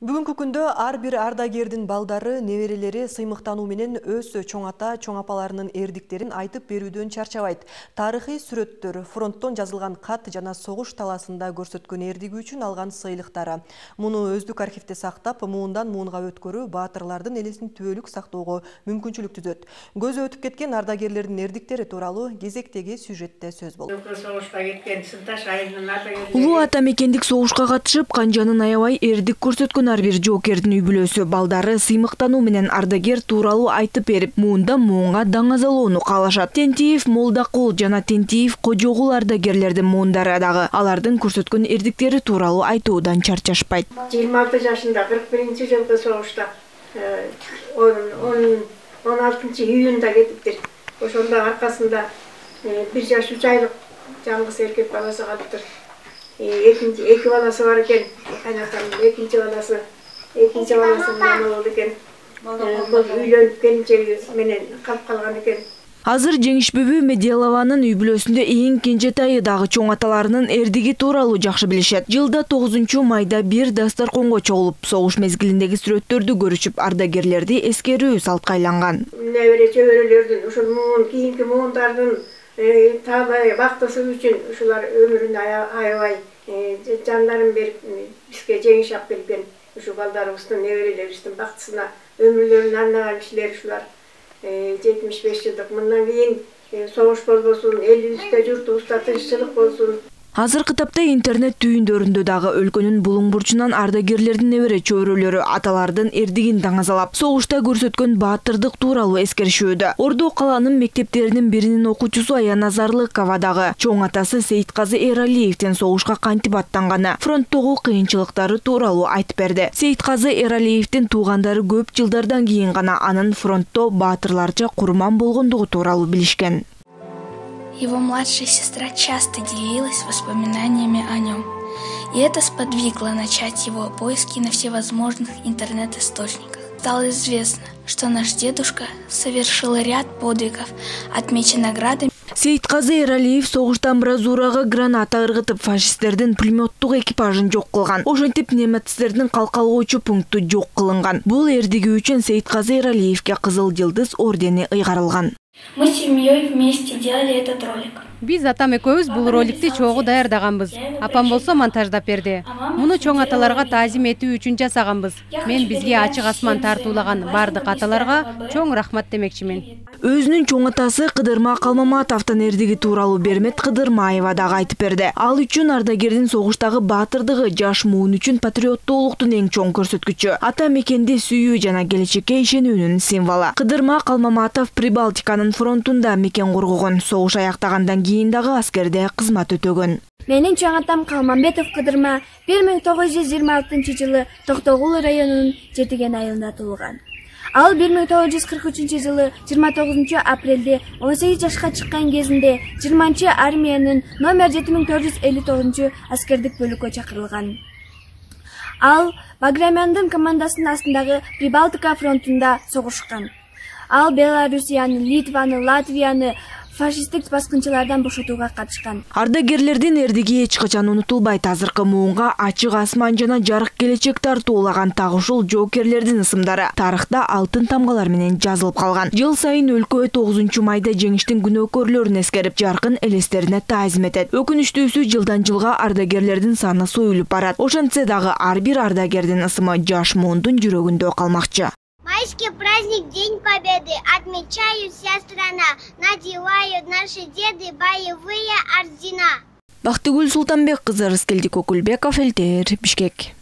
Бүгүнкү күндө ар бир ардагердин балдары, неберелери сыймыктануу менен өз чоң ата, чоң апаларынын эрдиктерин айтып берүүдөн чарчабайт. Тарыхый сүрөттөр, фронттон жазылган кат жана согуш таласында көрсөткөн эрдиги үчүн алган сыйлыктары. Муну өздүк архивде сактап, муундан муунга өткөрүү баатырлардын элесин түбөлүк сактоого мүмкүнчүлүк түзөт. Көзү өтүп кеткен ардагерлердин эрдиктери тууралуу кезектеги сюжетте сөз болду. Улуу ата мекендик согушка катышып, канжанын аябай эрдик көрсөткөн ар бир жоокердин үй бүлөсү балдары сыймыктануу менен ардагер тууралуу айтып берип, муундан муунга даңазалоону каалашат. Тентиев Молдакул жана Тентиев Кожогул ардагерлердин муундары дагы алардын көрсөткөн эрдиктери тууралуу айтуудан чарчашпайт. 26 жашында 41 жылкы согушта 16 июнда кетиптир. Ошондо аркасында 1 жаш 3 айлык жалгыз эркек баласы калыптыр. Эки баласы бар экен. Кайнатамдын экинчи баласы менен болду экен. Бул үйлөнүп келинчеги менен калып калган экен. Азыр Жеңиш бүбү Меделованын үй бүлөсүндө эң кенжетайы дагы чоң аталарынын эрдиги тууралуу жакшы билишет. Жылда 9 майда бир дастарконго чогулуп, согуш мезгилиндеги сүрөттөрдү көрүшүп, ардагерлерди эскерүү салтка айланган. Небере чөбөрөлөрдүн, ушул муун, кийинки муундардын таалай бактысы үчүн ушулар өмүрүн аябай жандарын берип бизге жеңиш алып келген. Ушу балдарыбыздын, неберелерибиздин бактысына өмүрлөрүн арнаган кишилер ушулар. 75 жылдык. Мындан кийин согуш болбосун, элибизде, журтубузда тынччылык болсун. Азыркы тапта интернет түйүндөрүндө дагы өлкөнүн булуң бурчунан ардагерлердин небере чөбөрөлөрү аталардын эрдигин даңазалап, согушта көрсөткөн баатырдык тууралуу эскеришүүдө. Ордо каланын мектептеринин биринин окуучусу Аяна Зарлыкова дагы чоң атасы Сейитказы Эралиевдин согушка кантип аттанганы, фронттогу кыйынчылыктары тууралуу айтып берди. Сейитказы Эралиевдин туугандары көп жылдардан кийин гана анын фронтто баатырларча курман болгондугу тууралуу билишкен. Его младшая сестра часто делилась воспоминаниями о нем, и это сподвигло начать его поиски на всевозможных интернет-источниках. Стало известно, что наш дедушка совершил ряд подвигов, отмечен наградами. Сейитказы Эралиев согуштан бразурага граната ыргытып, фашисттердин пулеметтук экипажын жок кылган. Ошентип немецтердин калкалоочу пункту жок кылынган. Бул эрдиги үчүн Сейитказы Эралиевге Кызыл Жылдыз ордени ыйгарылган. Мы с семьей вместе делали этот ролик. Биз атам экөөбүз бул роликти чогуу даярдаганбыз. Апам болсо монтаждап берди. Муну чоң аталарга таазим этүү үчүн жасаганбыз. Мен бизге ачык асман тартуулаган бардык аталарга чоң рахмат демекчимин. Өзүнүн чоң атасы Кыдырма Калмаматовдун эрдиги тууралуу Бермет Кыдырмаева дагы айтып берди. Ал үчүн ардагердин согуштагы баатырдыгы жаш муун үчүн патриоттуулуктун эң чоң көрсөткүчү. Ата мекенди сүйүү жана келечекке ишенүүнүн символу. Кыдырма Калмаматов Прибалтиканын фронтунда мекен коргогон. Согуш аяктагандан кийин дагы аскерде кызмат өтөгөн. Менин чоң атам Калмамбетов Кыдырма 1926 жылы Токтогул районунун Жетиген айылында туулган. Ал 1943 жылы 29 апрелде 18 жашка чыккан кезинде 20 армиянын номер 7459 аскердик бөлүккө чакырылган. Ал Баграмяндын командасынын астындагы Прибалтика фронтунда согушкан. Ал Белоруссияны, Литваны, Латвияны фашисттик баскынчылардан бошотууга катышкан. Ардагерлердин эрдиги эч качан унутулбайт. Азыркы муунга ачык асман жана жарык келечек тартуулаган так ушул жоокерлердин ысымдары тарыхта алтын тамгалар менен жазылып калган. Жыл сайын өлкө 9 майда жеңиштин күнөөкөрлөрүн эскерип, жаркын элестерине таазим этет. Өкүнүчтүүсү жылдан жылга ардагерлердин саны союлуп барат. Ошентсе дагы ар бир ардагердин ысымы жаш муундун жүрөгүндө калмакчы. Майский праздник, День Победы, отмечает вся страна, надевают наши деды боевые ордена. Бактыгүл Султанбек кызы, Рыскелди Кокулбеков, ЛТР, Бишкек.